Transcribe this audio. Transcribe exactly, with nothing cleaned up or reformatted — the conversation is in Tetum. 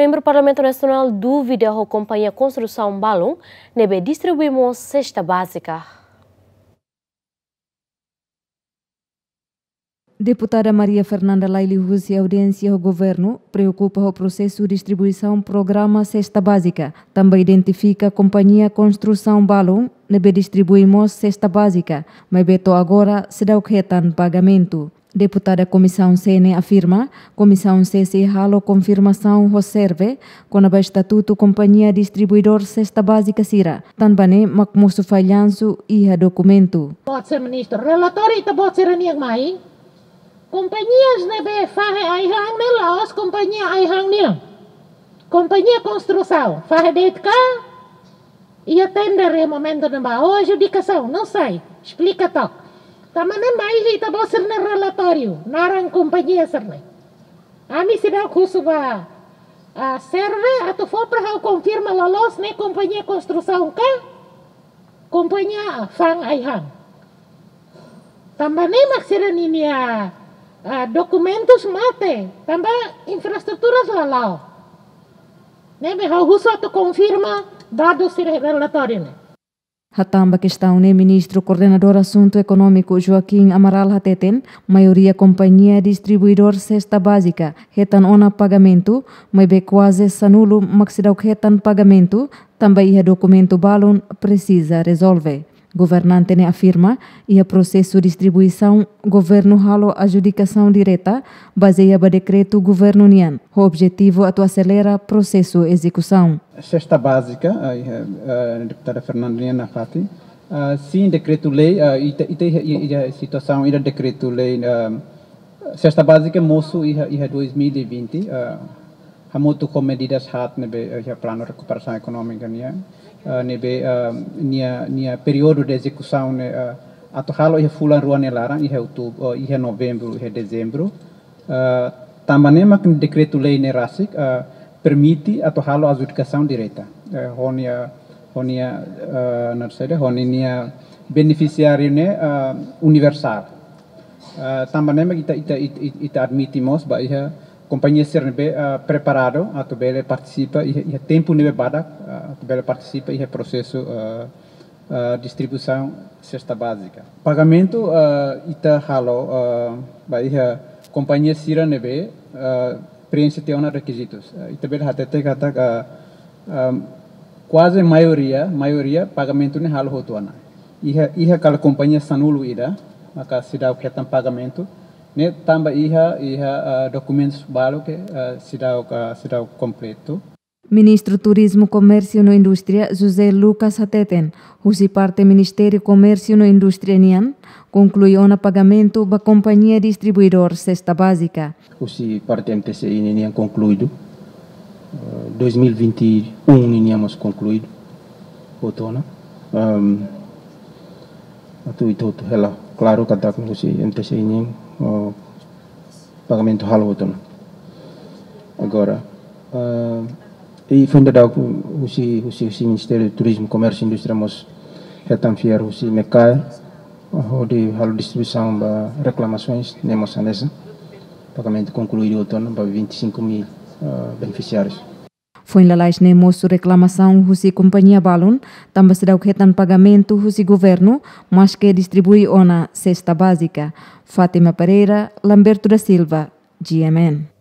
Membru Parlamentu Nasionál dúvida ho kompañia konstrusaun balun ne'ebé distribui mós sesta bázika. Deputada Maria Fernanda Laili husi audiénsia ho governu preokupa ho prosesu distribuisaun programa sesta bázika, tanba identifika kompañia konstrusaun balun ne'ebé distribui mós sesta bázika, maibé to'o agora seidauk hetan pagamentu. Deputada Komisaun C ne'e afirma, Komisaun C sei halo konfirmasaun ho SERVE kona-ba estatutu kompañia distribuidór sesta bázika sira, tanba ne'e mak mosu fallansu iha dokumentu. Boot sira, Ministru, relatóriu ita-boot sira-nian mai, kompañia ne'ebé fahe ai-han ne'e la'ós kompañia ai-han nian. Kompañia konstrusaun, fahe de'it ka, iha tender iha momentu ne'ebá, ou adjudikasaun, não sei, esplika took. Tanba ne'e mai iha ita-boot sira-nia relatóriu naran kompañia sira-ne'e. Ami seidauk husu ba, ah, SERVE atu fó para ha'u konfirma loloos ne'e kompañia konstrusaun ka kompañia fa'an ai-han. Tanba ne'e mak sira-ninia, ah, dokumentus mate, tanba infraestruturas la la'o. Ne'ebé ha'u husu atu konfirma dadus sira relatóriu ne'e. Hatán ba kestaun ne'e, Ministru Koordenadór Asuntu Ekonómiku Joaquim Amaral hateten, maioria kompañia distribuidór sesta bázika hetan ona pagamentu, maibé kuaze sanulu mak seidauk hetan pagamentu, tanba iha dokumentu balun presiza rezolve. Governante ne'e afirma, iha prosesu distribuisaun, governu halo adjudikasaun direta, bazeia ba dekretu governu nian, ho objetivu atu aselera prosesu ezekusaun. Sesta bázika, ah, iha, ah, deputada Fernanda nian nafatin. Ah, sin dekretu-lei, ah, ita, ita iha, iha, iha situasaun ida dekretu-lei, ah, sesta bázika mosu iha, iha dois mil e vinte, ah, hamutuk ho medidas haat ne'ebé, eh, iha planu rekuperasaun ekonómika nian, eh, ne'ebé, eh, nia, nia períodu de ezekusaun ne'e, eh, atu halo iha fulan rua nia laran, iha outubru, eh, iha novembru, iha dezembru. Eh, tanba ne'e mak dekretu-lei ne'e rasik, eh, permite atu halo adjudikasaun direta. Eh, ho nia, ho nia, eh, nada saida, ho nia benefisiáriu ne'e, eh, universál. Ah, tanba ne'e mak ita, ita, ita, ita admite mós ba iha kompañia sira ne'ebé, ah, preparadu atu bele partisipa iha, iha tempu ne'ebé badak, ah, atu bele partisipa iha prosesu, ah, ah, distribuisaun sesta bázika. Pagamentu, ah, ita halo, ah, ba iha kompañia sira ne'ebé, ah, preenxe tiha ona rekizitus. Ah, ita bele hatete katak, ah, ah, kuaze maioria, maioria pagamentu ne'e halo hotu ona. Iha, iha kala kompañia sanulu ida, maka seidauk hetan pagamentu, ne'e tanba iha, iha, ah, dokumentus balu ke, ah, seidauk, ah, seidauk kompletu. Ministru Turizmu, Komérsiu no Indústria, José Lucas hateten, husi parte Ministériu Komérsiu no Indústria nian, konklui ona pagamentu ba kompañia distribuidór sesta bázika. Husi parte M T C I ninian konkluidu. Eh, dois mil e vinte e um ninian mós konkluidu. Hotu ona. Ehm, atu ita hotu hela klaru katak husi M T C I nian, eh, pagamentu halo hotu ona. Agora, eh, i foin daudauk husi, husi, husi Ministériu Turizmu, Komérsiu, Indústria mós hetan fiar husi MECAE, hodi halo distribuisaun ba reklamasoens, ne'e mós hanesan. Pagamentu konkluidu hotu ona ba vinte e cinco mil, eh, benefisiárius. Foin lalais ne'e mosu reklamasaun husi kompañia balun, tanba seidauk hetan pagamentu husi governu, maske distribui ona sesta bázika. Fátima Pereira, Lamberto da Silva, G M N.